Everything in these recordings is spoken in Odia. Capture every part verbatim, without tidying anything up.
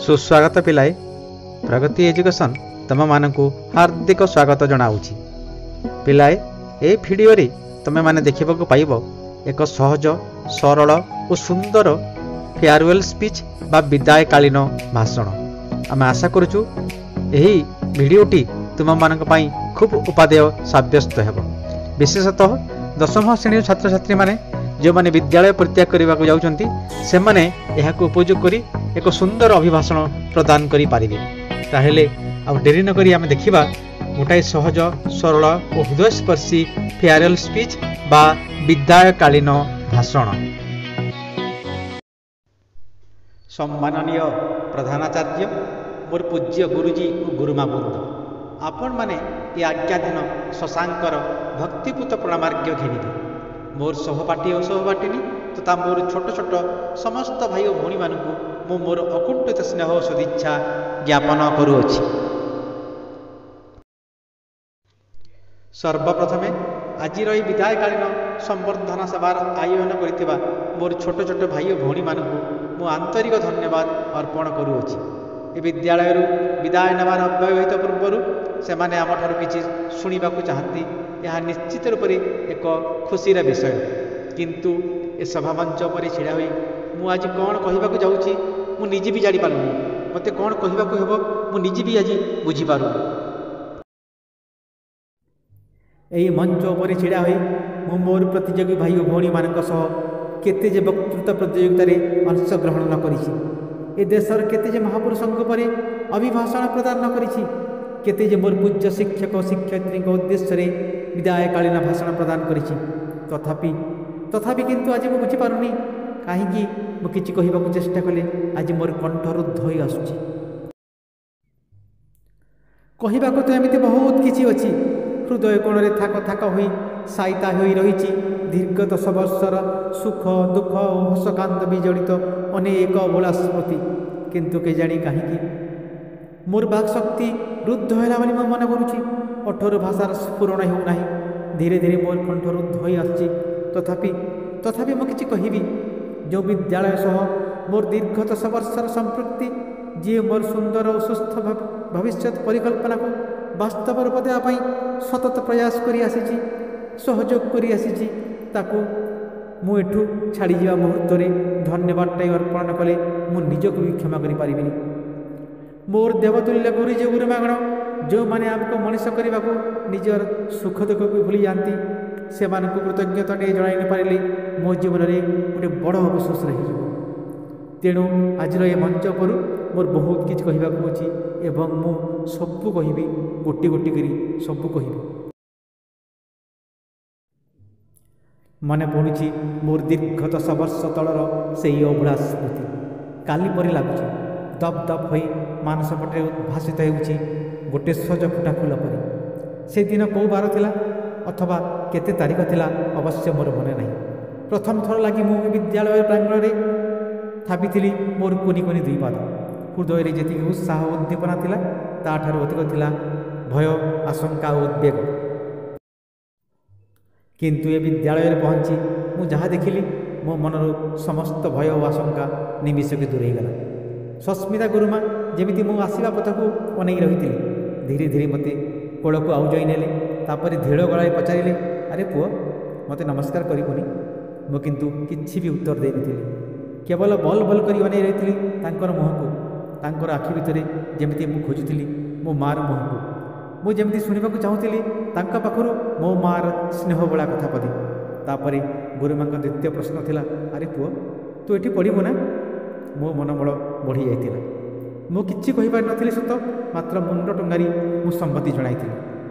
ସୁସ୍ୱାଗତ ପିଲାଏ, ପ୍ରଗତି ଏଜୁକେସନ୍ ତୁମମାନଙ୍କୁ ହାର୍ଦ୍ଦିକ ସ୍ୱାଗତ ଜଣାଉଛି। ପିଲାଏ, ଏହି ଭିଡ଼ିଓରେ ତୁମେମାନେ ଦେଖିବାକୁ ପାଇବ ଏକ ସହଜ, ସରଳ ଓ ସୁନ୍ଦର ଫେୟାରୱେଲ୍ ସ୍ପିଚ୍ ବା ବିଦାୟକାଳୀନ ଭାଷଣ। ଆମେ ଆଶା କରୁଛୁ ଏହି ଭିଡ଼ିଓଟି ତୁମମାନଙ୍କ ପାଇଁ ଖୁବ୍ ଉପାଦେୟ ସାବ୍ୟସ୍ତ ହେବ। ବିଶେଷତଃ ଦଶମ ଶ୍ରେଣୀର ଛାତ୍ରଛାତ୍ରୀମାନେ ଯେଉଁମାନେ ବିଦ୍ୟାଳୟ ପରିତ୍ୟାଗ କରିବାକୁ ଯାଉଛନ୍ତି, ସେମାନେ ଏହାକୁ ଉପଯୋଗ କରି ଏକ ସୁନ୍ଦର ଅଭିଭାଷଣ ପ୍ରଦାନ କରିପାରିବେ। ତାହେଲେ ଆଉ ଡେରି ନକରି ଆମେ ଦେଖିବା ଗୋଟାଏ ସହଜ, ସରଳ ଓ ହୃଦୟସ୍ପର୍ଶୀ ଫେୟାରୱେଲ୍ ସ୍ପିଚ୍ ବା ବିଦାୟକାଳୀନ ଭାଷଣ। ସମ୍ମାନନୀୟ ପ୍ରଧାନାଚାର୍ଯ୍ୟ, ମୋର ପୂଜ୍ୟ ଗୁରୁଜୀ ଓ ଗୁରୁମା ବୃନ୍ଦ, ଆପଣମାନେ ଏ ଆଜ୍ଞାଧୀନ ଶଶାଙ୍କର ଭକ୍ତିପୂତ ପ୍ରଣାମାର୍ଘ୍ୟ ଘେନିବେ। ମୋର ସହପାଠୀ ଓ ସହପାଠିନୀ ତଥା ମୋର ଛୋଟ ଛୋଟ ସମସ୍ତ ଭାଇ ଓ ଭଉଣୀମାନଙ୍କୁ ମୁଁ ମୋର ଅକୁଣ୍ଠିତ ସ୍ନେହ ଓ ସଦିଚ୍ଛା ଜ୍ଞାପନ କରୁଅଛି। ସର୍ବପ୍ରଥମେ ଆଜିର ଏହି ବିଦାୟକାଳୀନ ସମ୍ବର୍ଦ୍ଧନା ସଭାର ଆୟୋଜନ କରିଥିବା ମୋର ଛୋଟ ଛୋଟ ଭାଇ ଓ ଭଉଣୀମାନଙ୍କୁ ମୁଁ ଆନ୍ତରିକ ଧନ୍ୟବାଦ ଅର୍ପଣ କରୁଅଛି। ଏ ବିଦ୍ୟାଳୟରୁ ବିଦାୟ ନେବାର ଅବ୍ୟବହିତ ପୂର୍ବରୁ ସେମାନେ ଆମଠାରୁ କିଛି ଶୁଣିବାକୁ ଚାହାନ୍ତି, ଏହା ନିଶ୍ଚିତ ରୂପରେ ଏକ ଖୁସିର ବିଷୟ। କିନ୍ତୁ ଏ ସଭାମଞ୍ଚ ଉପରେ ଛିଡ଼ା ହୋଇ ମୁଁ ଆଜି କ'ଣ କହିବାକୁ ଯାଉଛି ମୁଁ ନିଜେ ବି ଜାଣିପାରୁନି। ମୋତେ କ'ଣ କହିବାକୁ ହେବ ମୁଁ ନିଜେ ବି ଆଜି ବୁଝିପାରୁନି। ଏହି ମଞ୍ଚ ଉପରେ ଛିଡ଼ା ହୋଇ ମୁଁ ମୋର ପ୍ରତିଯୋଗୀ ଭାଇ ଓ ଭଉଣୀମାନଙ୍କ ସହ କେତେ ଯେ ବକ୍ତୃତା ପ୍ରତିଯୋଗିତାରେ ଅଂଶଗ୍ରହଣ ନ କରିଛି, ଏ ଦେଶର କେତେ ଯେ ମହାପୁରୁଷଙ୍କ ଉପରେ ଅଭିଭାଷଣ ପ୍ରଦାନ ନ କରିଛି, କେତେ ଯେ ମୋର ପୂଜ୍ୟ ଶିକ୍ଷକ ଓ ଶିକ୍ଷୟିତ୍ରୀଙ୍କ ଉଦ୍ଦେଶ୍ୟରେ ବିଦାୟକାଳୀନ ଭାଷଣ ପ୍ରଦାନ କରିଛି, ତଥାପି ତଥାପି କିନ୍ତୁ ଆଜି ମୁଁ ବୁଝିପାରୁନି କାହିଁକି ମୁଁ କିଛି କହିବାକୁ ଚେଷ୍ଟା କଲେ ଆଜି ମୋର କଣ୍ଠ ରୁଦ୍ଧ ହୋଇ ଆସୁଛି। କହିବାକୁ ତ ଏମିତି ବହୁତ କିଛି ଅଛି। ହୃଦୟ କୋଣରେ ଥାକ ଥାକ ହୋଇ ସାଇତା ହୋଇ ରହିଛି ଦୀର୍ଘ ଦଶ ବର୍ଷର ସୁଖ ଦୁଃଖ ଓ ହସକାନ୍ଦ ବିଜଡ଼ିତ ଅନେକ ଅଭୁଲା ସ୍ମୃତି। କିନ୍ତୁ କେଜାଣି କାହିଁକି ମୋର ବାକ୍ଶକ୍ତି ରୁଦ୍ଧ ହେଲା ବୋଲି ମୁଁ ମନେ କରୁଛି। ଓଠରୁ ଭାଷାର ସ୍ଫୁରଣ ହେଉନାହିଁ। ଧୀରେ ଧୀରେ ମୋର କଣ୍ଠ ରୁଦ୍ଧ ହୋଇ ଆସୁଛି। ତଥାପି ତଥାପି ମୁଁ କିଛି କହିବି। ଯେଉଁ ବିଦ୍ୟାଳୟ ସହ ମୋର ଦୀର୍ଘ ଦଶ ବର୍ଷର ସମ୍ପୃକ୍ତି, ଯିଏ ମୋର ସୁନ୍ଦର ଓ ସୁସ୍ଥ ଭବିଷ୍ୟତ ପରିକଳ୍ପନାକୁ ବାସ୍ତବ ରୂପ ଦେବା ପାଇଁ ସତତ ପ୍ରୟାସ କରି ଆସିଛି, ସହଯୋଗ କରି ଆସିଛି, ତାକୁ ମୁଁ ଏଠୁ ଛାଡ଼ିଯିବା ମୁହୂର୍ତ୍ତରେ ଧନ୍ୟବାଦଟା ଅର୍ପଣ ନ କଲେ ମୁଁ ନିଜକୁ ବି କ୍ଷମା କରିପାରିବିନି। ମୋର ଦେବତୁଲ୍ୟ ଗୁରୁଜୀ ଗୁରୁମାଗଣ, ଯେଉଁମାନେ ଆମକୁ ମଣିଷ କରିବାକୁ ନିଜର ସୁଖ ଦୁଃଖକୁ ଭୁଲି ଯାଆନ୍ତି, ସେମାନଙ୍କୁ କୃତଜ୍ଞତାଟିଏ ଜଣାଇ ନପାରିଲେ ମୋ ଜୀବନରେ ଗୋଟେ ବଡ଼ ଅଫସୋସ ରହିଯିବ। ତେଣୁ ଆଜିର ଏ ମଞ୍ଚ ଉପରୁ ମୋର ବହୁତ କିଛି କହିବାକୁ ଅଛି ଏବଂ ମୁଁ ସବୁ କହିବି, ଗୋଟି ଗୋଟି କରି ସବୁ କହିବି। ମନେ ପଡ଼ୁଛି ମୋର ଦୀର୍ଘ ଦଶ ବର୍ଷ ତଳର ସେଇ ଅଭୁଲା ସ୍ମୃତି। କାଲି ପରି ଲାଗୁଛି, ଦପ୍ ଦପ୍ ହୋଇ ମାନସପଟରେ ଉଦ୍ଭାସିତ ହେଉଛି ଗୋଟେ ସଜ ଫୁଟା ଫୁଲ ପରି। ସେଦିନ କେଉଁ ବାର ଥିଲା ଅଥବା କେତେ ତାରିଖ ଥିଲା ଅବଶ୍ୟ ମୋର ମନେ ନାହିଁ। ପ୍ରଥମ ଥର ଲାଗି ମୁଁ ବିଦ୍ୟାଳୟ ପ୍ରାଙ୍ଗଣରେ ଥାପିଥିଲି ମୋର କୁନି କୁନି ଦୁଇ ପାଦ। ହୃଦୟରେ ଯେତିକି ଉତ୍ସାହ ଉଦ୍ଦୀପନା ଥିଲା, ତାଠାରୁ ଅଧିକ ଥିଲା ଭୟ, ଆଶଙ୍କା ଓ ଉଦ୍ବେଗ। କିନ୍ତୁ ଏ ବିଦ୍ୟାଳୟରେ ପହଞ୍ଚି ମୁଁ ଯାହା ଦେଖିଲି, ମୋ ମନରୁ ସମସ୍ତ ଭୟ ଓ ଆଶଙ୍କା ନିମିଷକେ ଦୂରେଇଗଲା। ସସ୍ମିତା ଗୁରୁମା ଯେମିତି ମୁଁ ଆସିବା ପଥକୁ ଅନେଇ ରହିଥିଲେ, ଧୀରେ ଧୀରେ ମୋତେ କୋଳକୁ ଆଉଜାଇ ନେଲେ। ତାପରେ ଧୀଳ ଗଳାରେ ପଚାରିଲେ, ଆରେ ପୁଅ, ମୋତେ ନମସ୍କାର କରିବୁନି? ମୁଁ କିନ୍ତୁ କିଛି ବି ଉତ୍ତର ଦେଇନଥିଲି। କେବଳ ବଲ ବଲ କରି ଅନେଇ ରହିଥିଲି ତାଙ୍କର ମୁହଁକୁ। ତାଙ୍କର ଆଖି ଭିତରେ ଯେମିତି ମୁଁ ଖୋଜୁଥିଲି ମୋ ମାଆର ମୁହଁକୁ। ମୁଁ ଯେମିତି ଶୁଣିବାକୁ ଚାହୁଁଥିଲି ତାଙ୍କ ପାଖରୁ ମୋ ମାଆର ସ୍ନେହ ବୋଳା କଥା ପଦେ। ତାପରେ ଗୁରୁମାଙ୍କ ଦ୍ୱିତୀୟ ପ୍ରଶ୍ନ ଥିଲା, ଆରେ ପୁଅ, ତୁ ଏଠି ପଢ଼ିବୁ ନା? ମୋ ମନୋବଳ ବଢ଼ିଯାଇଥିଲା। ମୁଁ କିଛି କହିପାରିନଥିଲି ସତ, ମାତ୍ର ମୁଣ୍ଡ ଟୁଙ୍ଗାରି ମୁଁ ସମ୍ମତି ଜଣାଇଥିଲି।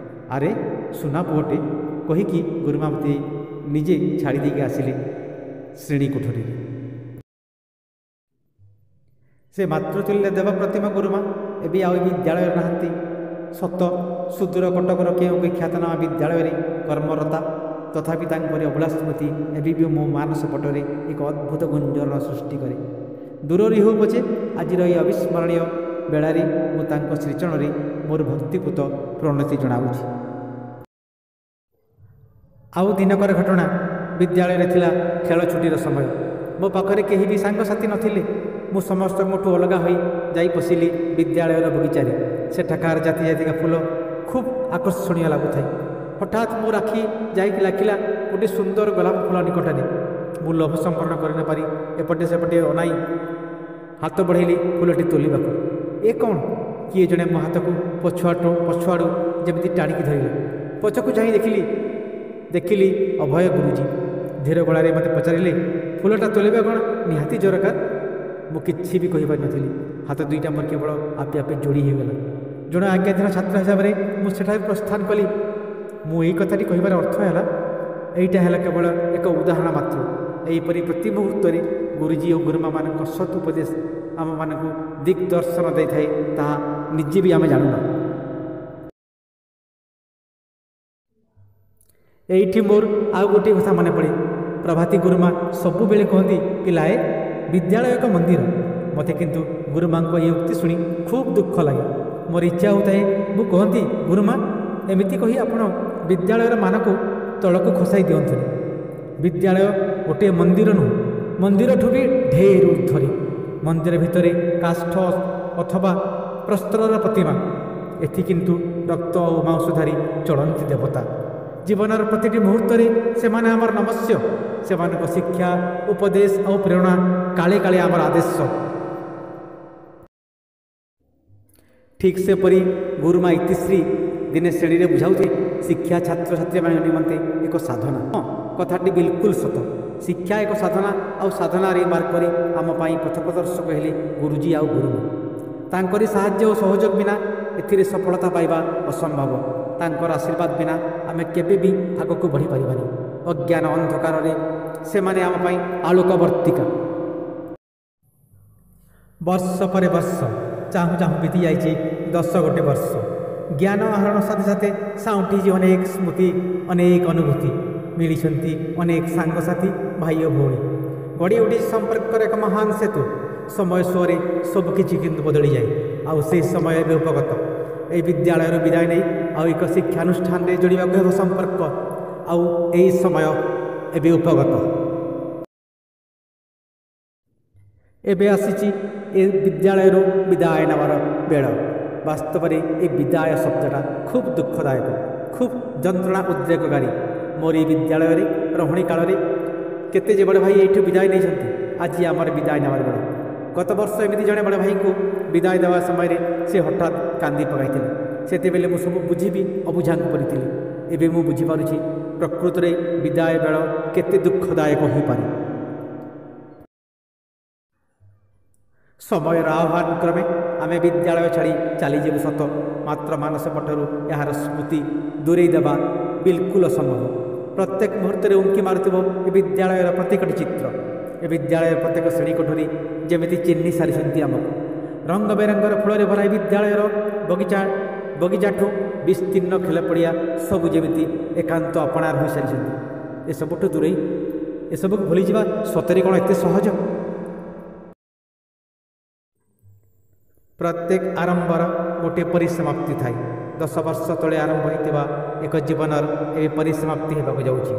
ଆରେ ସୁନା ପୁଅଟେ କହିକି ଗୁରୁମା ମୋତେ ନିଜେ ଛାଡ଼ି ଦେଇକି ଆସିଲେ ଶ୍ରେଣୀ କୋଠରୀରେ। ସେ ମାତୃତୁଲ୍ୟ ଦେବ ପ୍ରତିମା ଗୁରୁମା ଏବେ ଆଉ ବିଦ୍ୟାଳୟରେ ନାହାନ୍ତି ସତ, ସୁଦୂର କଟକର କେଉଁ ଖ୍ୟାତନାମା ବିଦ୍ୟାଳୟରେ କର୍ମରତା। ତଥାପି ତାଙ୍କରି ଅଭୁଲା ସ୍ମୃତି ଏବେ ବି ମୋ ମାନସ ପଟରେ ଏକ ଅଦ୍ଭୁତ ଗୁଞ୍ଜରଣ ସୃଷ୍ଟି କରେ। ଦୂରରେ ହେଉ ପଛେ ଆଜିର ଏହି ଅବିସ୍ମରଣୀୟ ବେଳାରେ ମୁଁ ତାଙ୍କ ଶ୍ରୀଚରଣରେ ମୋର ଭକ୍ତିପୂତ ପ୍ରଣତି ଜଣାଉଛି। ଆଉ ଦିନକର ଘଟଣା, ବିଦ୍ୟାଳୟରେ ଥିଲା ଖେଳ ଛୁଟିର ସମୟ। ମୋ ପାଖରେ କେହି ବି ସାଙ୍ଗସାଥି ନଥିଲେ। ମୁଁ ସମସ୍ତଙ୍କଠୁ ଅଲଗା ହୋଇ ଯାଇ ପଶିଲି ବିଦ୍ୟାଳୟର ବଗିଚାରେ। ସେଠାକାର ଜାତି ଜାତିକା ଫୁଲ ଖୁବ୍ ଆକର୍ଷଣୀୟ ଲାଗୁଥାଏ। ହଠାତ୍ ମୋ ଆଖି ଯାଇକି ଲାଗିଲା ଗୋଟିଏ ସୁନ୍ଦର ଗୋଲାପ ଫୁଲ ନିକଟରେ। ମୁଁ ଲୋଭ ସମ୍ବରଣ କରିନପାରି ଏପଟେ ସେପଟେ ଅନାଇ ହାତ ବଢ଼େଇଲି ଫୁଲଟି ତୋଳିବାକୁ। ଏ କ'ଣ, କିଏ ଜଣେ ମୋ ହାତକୁ ପଛୁଆଠୁ ପଛୁଆଡ଼ୁ ଯେମିତି ଟାଣିକି ଧରିଲା। ପଛକୁ ଚାହିଁ ଦେଖିଲି ଦେଖିଲି ଅଭୟ ଗୁରୁଜୀ। ଧୀର ଗଳାରେ ମୋତେ ପଚାରିଲେ, ଫୁଲଟା ତୋଳିବା କ'ଣ ନିହାତି ଦରକାର? ମୁଁ କିଛି ବି କହିପାରିନଥିଲି। ହାତ ଦୁଇଟା ମୋର କେବଳ ଆପେ ଆପେ ଯୋଡ଼ି ହୋଇଗଲା। ଜଣେ ଆଜ୍ଞାଧୀନ ଛାତ୍ର ହିସାବରେ ମୁଁ ସେଠାରୁ ପ୍ରସ୍ଥାନ କଲି। ମୁଁ ଏଇ କଥାଟି କହିବାର ଅର୍ଥ ହେଲା, ଏଇଟା ହେଲା କେବଳ ଏକ ଉଦାହରଣ ମାତ୍ର। ଏହିପରି ପ୍ରତି ମୁହୂର୍ତ୍ତରେ ଗୁରୁଜୀ ଓ ଗୁରୁମାମାନଙ୍କ ସତ୍ ଉପଦେଶ ଆମମାନଙ୍କୁ ଦିଗ୍ଦର୍ଶନ ଦେଇଥାଏ, ତାହା ନିଜେ ବି ଆମେ ଜାଣୁନା। ଏଇଠି ମୋର ଆଉ ଗୋଟିଏ କଥା ମନେ ପଡ଼େ। ପ୍ରଭାତୀ ଗୁରୁମା ସବୁବେଳେ କୁହନ୍ତି, ପିଲାଏ, ବିଦ୍ୟାଳୟ ଏକ ମନ୍ଦିର। ମୋତେ କିନ୍ତୁ ଗୁରୁମାଙ୍କ ଏହି ଉକ୍ତି ଶୁଣି ଖୁବ୍ ଦୁଃଖ ଲାଗେ। ମୋର ଇଚ୍ଛା ହେଉଥାଏ ମୁଁ କହନ୍ତି, ଗୁରୁମା, ଏମିତି କହି ଆପଣ ବିଦ୍ୟାଳୟର ମାନକୁ ତଳକୁ ଖସାଇ ଦିଅନ୍ତୁନି। ବିଦ୍ୟାଳୟ ଗୋଟିଏ ମନ୍ଦିର ନୁହଁ, ମନ୍ଦିରଠୁ ବି ଢେର ଉର୍ଦ୍ଧ୍ୱରେ। ମନ୍ଦିର ଭିତରେ କାଷ୍ଠ ଅଥବା ପ୍ରସ୍ତରର ପ୍ରତିମା, ଏଠି କିନ୍ତୁ ରକ୍ତ ଓ ମାଂସ ଧରି ଚଳନ୍ତି ଦେବତା। ଜୀବନର ପ୍ରତିଟି ମୁହୂର୍ତ୍ତରେ ସେମାନେ ଆମର ନମସ୍ୟ। ସେମାନଙ୍କ ଶିକ୍ଷା, ଉପଦେଶ ଆଉ ପ୍ରେରଣା କାଳେ କାଳେ ଆମର ଆଦେଶ। ଠିକ୍ ସେପରି ଗୁରୁମା ଇତିଶ୍ରୀ ଦିନେ ଶ୍ରେଣୀରେ ବୁଝାଉଥିଲେ, ଶିକ୍ଷା ଛାତ୍ରଛାତ୍ରୀମାନଙ୍କ ନିମନ୍ତେ ଏକ ସାଧନା। ହଁ, କଥାଟି ବିଲକୁଲ ସତ। ଶିକ୍ଷା ଏକ ସାଧନା, ଆଉ ସାଧନାରେ ମାର୍ଗରେ ଆମ ପାଇଁ ପଥପ୍ରଦର୍ଶକ ହେଲେ ଗୁରୁଜୀ ଆଉ ଗୁରୁମା। ତାଙ୍କରି ସାହାଯ୍ୟ ଓ ସହଯୋଗ ବିନା ଏଥିରେ ସଫଳତା ପାଇବା ଅସମ୍ଭବ। ତାଙ୍କର ଆଶୀର୍ବାଦ ବିନା ଆମେ କେବେ ବି ଆଗକୁ ବଢ଼ିପାରିବାନି। ଅଜ୍ଞାନ ଅନ୍ଧକାରରେ ସେମାନେ ଆମ ପାଇଁ ଆଲୋକବର୍ତ୍ତିକା। ବର୍ଷ ପରେ ବର୍ଷ ଚାହୁଁ ଚାହୁଁ ବିତି ଯାଇଛି ଦଶ ଗୋଟେ ବର୍ଷ। ଜ୍ଞାନ ଆହରଣ ସାଥେ ସାଥେ ସାଉଁଟିଛି ଅନେକ ସ୍ମୃତି, ଅନେକ ଅନୁଭୂତି। ମିଳିଛନ୍ତି ଅନେକ ସାଙ୍ଗସାଥି, ଭାଇ ଓ ଭଉଣୀ। ଗଢ଼ି ଉଠିଛି ସମ୍ପର୍କର ଏକ ମହାନ ସେତୁ। ସମୟ ସୁଅରେ ସବୁକିଛି କିନ୍ତୁ ବଦଳିଯାଏ, ଆଉ ସେହି ସମୟ ଏବେ ଉପଗତ। ଏହି ବିଦ୍ୟାଳୟରୁ ବିଦାୟ ନେଇ ଆଉ ଏକ ଶିକ୍ଷାନୁଷ୍ଠାନରେ ଯୋଡ଼ିବାକୁ ହେବ ସମ୍ପର୍କ, ଆଉ ଏହି ସମୟ ଏବେ ଉପଗତ। ଏବେ ଆସିଛି ଏ ବିଦ୍ୟାଳୟରୁ ବିଦାୟ ନେବାର ବେଳ। ବାସ୍ତବରେ ଏ ବିଦାୟ ଶବ୍ଦଟା ଖୁବ୍ ଦୁଃଖଦାୟକ, ଖୁବ୍ ଯନ୍ତ୍ରଣା ଉଦ୍ରେକକାରୀ। ମୋର ଏଇ ବିଦ୍ୟାଳୟରେ ରହଣି କାଳରେ କେତେ ଯେ ବଡ଼ ଭାଇ ଏଇଠୁ ବିଦାୟ ନେଇଛନ୍ତି, ଆଜି ଆମର ବିଦାୟ ନେବାର ବେଳ। ଗତ ବର୍ଷ ଏମିତି ଜଣେ ବଡ଼ ଭାଇଙ୍କୁ ବିଦାୟ ଦେବା ସମୟରେ ସେ ହଠାତ୍ କାନ୍ଦି ପକାଇଥିଲେ। ସେତେବେଳେ ମୁଁ ସବୁ ବୁଝିବି ଅବୁଝାଙ୍କୁ ପଡ଼ିଥିଲି। ଏବେ ମୁଁ ବୁଝିପାରୁଛି ପ୍ରକୃତରେ ବିଦାୟ ବେଳ କେତେ ଦୁଃଖଦାୟକ ହୋଇପାରେ। ସମୟର ଆହ୍ୱାନ କ୍ରମେ ଆମେ ବିଦ୍ୟାଳୟ ଛାଡ଼ି ଚାଲିଯିବୁ ସତ, ମାତ୍ର ମାନସ ପଟରୁ ଏହାର ସ୍ମୃତି ଦୂରେଇ ଦେବା ବିଲକୁଲ ଅସମ୍ଭବ। ପ୍ରତ୍ୟେକ ମୁହୂର୍ତ୍ତରେ ଉଙ୍କି ମାରୁଥିବ ଏ ବିଦ୍ୟାଳୟର ପ୍ରତ୍ୟେକଟି ଚିତ୍ର। ଏ ବିଦ୍ୟାଳୟର ପ୍ରତ୍ୟେକ ଶ୍ରେଣୀ କୋଠରୀ ଯେମିତି ଚିହ୍ନି ସାରିଛନ୍ତି ଆମକୁ। ରଙ୍ଗ ବେରଙ୍ଗର ଫୁଲରେ ଭରା ଏ ବିଦ୍ୟାଳୟର ବଗିଚା ବଗିଚାଠୁ ବିସ୍ତୀର୍ଣ୍ଣ ଖେଳ ପଡ଼ିଆ ସବୁ ଯେମିତି ଏକାନ୍ତ ଆପଣାର ହୋଇସାରିଛନ୍ତି। ଏସବୁଠୁ ଦୂରେଇ ଏସବୁକୁ ଭୁଲିଯିବା ସତରେ କ'ଣ ଏତେ ସହଜ? ପ୍ରତ୍ୟେକ ଆରମ୍ଭର ଗୋଟିଏ ପରିସମାପ୍ତି ଥାଏ। ଦଶ ବର୍ଷ ତଳେ ଆରମ୍ଭ ହୋଇଥିବା ଏକ ଜୀବନର ଏବେ ପରିସମାପ୍ତି ହେବାକୁ ଯାଉଛି।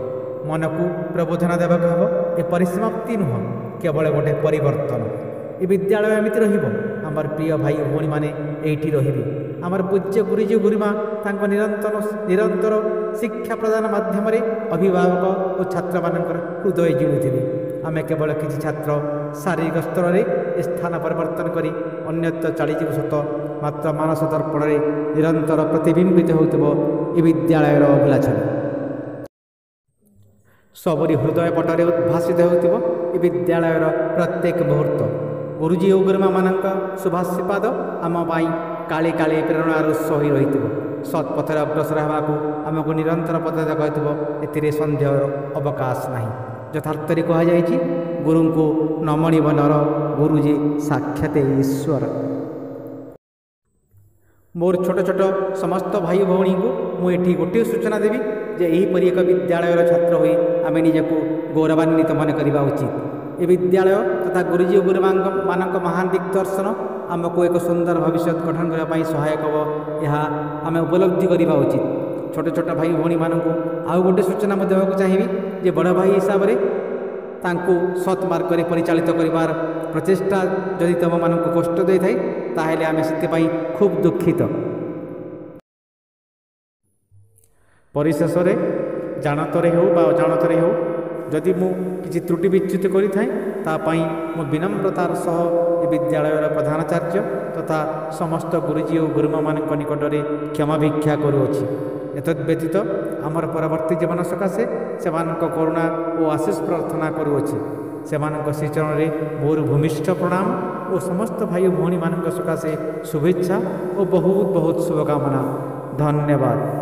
ମନକୁ ପ୍ରବୋଧନା ଦେବାକୁ ହେବ, ଏ ପରିସମାପ୍ତି ନୁହଁ, କେବଳ ଗୋଟେ ପରିବର୍ତ୍ତନ। ଏ ବିଦ୍ୟାଳୟ ଏମିତି ରହିବ, ଆମର ପ୍ରିୟ ଭାଇ ଭଉଣୀମାନେ ଏଇଠି ରହିବେ। ଆମର ପୂଜ୍ୟ ଗୁରୁଜୀ ଗୁରୁମା ତାଙ୍କ ନିରନ୍ତର ନିରନ୍ତର ଶିକ୍ଷା ପ୍ରଦାନ ମାଧ୍ୟମରେ ଅଭିଭାବକ ଓ ଛାତ୍ରମାନଙ୍କର ହୃଦୟ ଜିଣୁଥିବେ। ଆମେ କେବଳ କିଛି ଛାତ୍ର ଶାରୀରିକ ସ୍ତରରେ ଏ ସ୍ଥାନ ପରିବର୍ତ୍ତନ କରି ଅନ୍ୟତ୍ର ଚାଲିଯିବୁ ସତ, ମାତ୍ର ମାନସ ଦର୍ପଣରେ ନିରନ୍ତର ପ୍ରତିବିମ୍ବିତ ହେଉଥିବ ଏ ବିଦ୍ୟାଳୟର ଅଭୁଲା ଛବି। ସବୁରି ହୃଦୟ ପଟରେ ଉଦ୍ଭାସିତ ହେଉଥିବ ଏ ବିଦ୍ୟାଳୟର ପ୍ରତ୍ୟେକ ମୁହୂର୍ତ୍ତ। ଗୁରୁଜୀ ଓ ଗୁରୁମାମାନଙ୍କ ଶୁଭାଶୀର୍ବାଦ ଆମ ପାଇଁ କାଳେ କାଳେ ପ୍ରେରଣାର ଉତ୍ସ ହୋଇ ରହିଥିବ। ସତ୍ ପଥରେ ଅଗ୍ରସର ହେବାକୁ ଆମକୁ ନିରନ୍ତର ପଥ ଦେଖାଉଥିବ, ଏଥିରେ ସନ୍ଦେହର ଅବକାଶ ନାହିଁ। ଯଥାର୍ଥରେ କୁହାଯାଇଛି, ଗୁରୁଙ୍କୁ ନମଣିବ ନର, ଗୁରୁଜୀ ସାକ୍ଷାତ ଈଶ୍ୱର। ମୋର ଛୋଟ ଛୋଟ ସମସ୍ତ ଭାଇ ଭଉଣୀଙ୍କୁ ମୁଁ ଏଠି ଗୋଟିଏ ସୂଚନା ଦେବି ଯେ ଏହିପରି ଏକ ବିଦ୍ୟାଳୟର ଛାତ୍ର ହୋଇ ଆମେ ନିଜକୁ ଗୌରବାନ୍ୱିତ ମନେ କରିବା ଉଚିତ। ଏ ବିଦ୍ୟାଳୟ ତଥା ଗୁରୁଜୀ ଓ ଗୁରୁମାଙ୍କ ମାନଙ୍କ ମହାନ ଦିଗ୍ଦର୍ଶନ ଆମକୁ ଏକ ସୁନ୍ଦର ଭବିଷ୍ୟତ ଗଠନ କରିବା ପାଇଁ ସହାୟକ ହେବ, ଏହା ଆମେ ଉପଲବ୍ଧି କରିବା ଉଚିତ। ଛୋଟ ଛୋଟ ଭାଇ ଭଉଣୀମାନଙ୍କୁ ଆଉ ଗୋଟେ ସୂଚନା ମୁଁ ଦେବାକୁ ଚାହିଁବି ଯେ ବଡ଼ ଭାଇ ହିସାବରେ ତାଙ୍କୁ ସତ୍ ମାର୍ଗରେ ପରିଚାଳିତ କରିବାର ପ୍ରଚେଷ୍ଟା ଯଦି ତୁମମାନଙ୍କୁ କଷ୍ଟ ଦେଇଥାଏ, ତାହେଲେ ଆମେ ସେଥିପାଇଁ ଖୁବ୍ ଦୁଃଖିତ। ପରିଶେଷରେ ଜାଣତରେ ହେଉ ବା ଅଜାଣତରେ ହେଉ ଯଦି ମୁଁ କିଛି ତ୍ରୁଟି ବିଚ୍ୟୁତି କରିଥାଏ, ତା ପାଇଁ ମୁଁ ବିନମ୍ରତାର ସହ ଏ ବିଦ୍ୟାଳୟର ପ୍ରଧାନାଚାର୍ଯ୍ୟ ତଥା ସମସ୍ତ ଗୁରୁଜୀ ଓ ଗୁରୁମାମାନଙ୍କ ନିକଟରେ କ୍ଷମା ଭିକ୍ଷା କରୁଅଛି। ଏତଦ୍ ବ୍ୟତୀତ ଆମର ପରବର୍ତ୍ତୀ ଜୀବନ ସକାଶେ ସେମାନଙ୍କ କରୁଣା ଓ ଆଶିଷ ପ୍ରାର୍ଥନା କରୁଅଛି। ସେମାନଙ୍କ ଶ୍ରୀଚରଣରେ ମୋର ଭୂମିଷ୍ଠ ପ୍ରଣାମ ଓ ସମସ୍ତ ଭାଇ ଓ ଭଉଣୀମାନଙ୍କ ସକାଶେ ଶୁଭେଚ୍ଛା ଓ ବହୁତ ବହୁତ ଶୁଭକାମନା। ଧନ୍ୟବାଦ।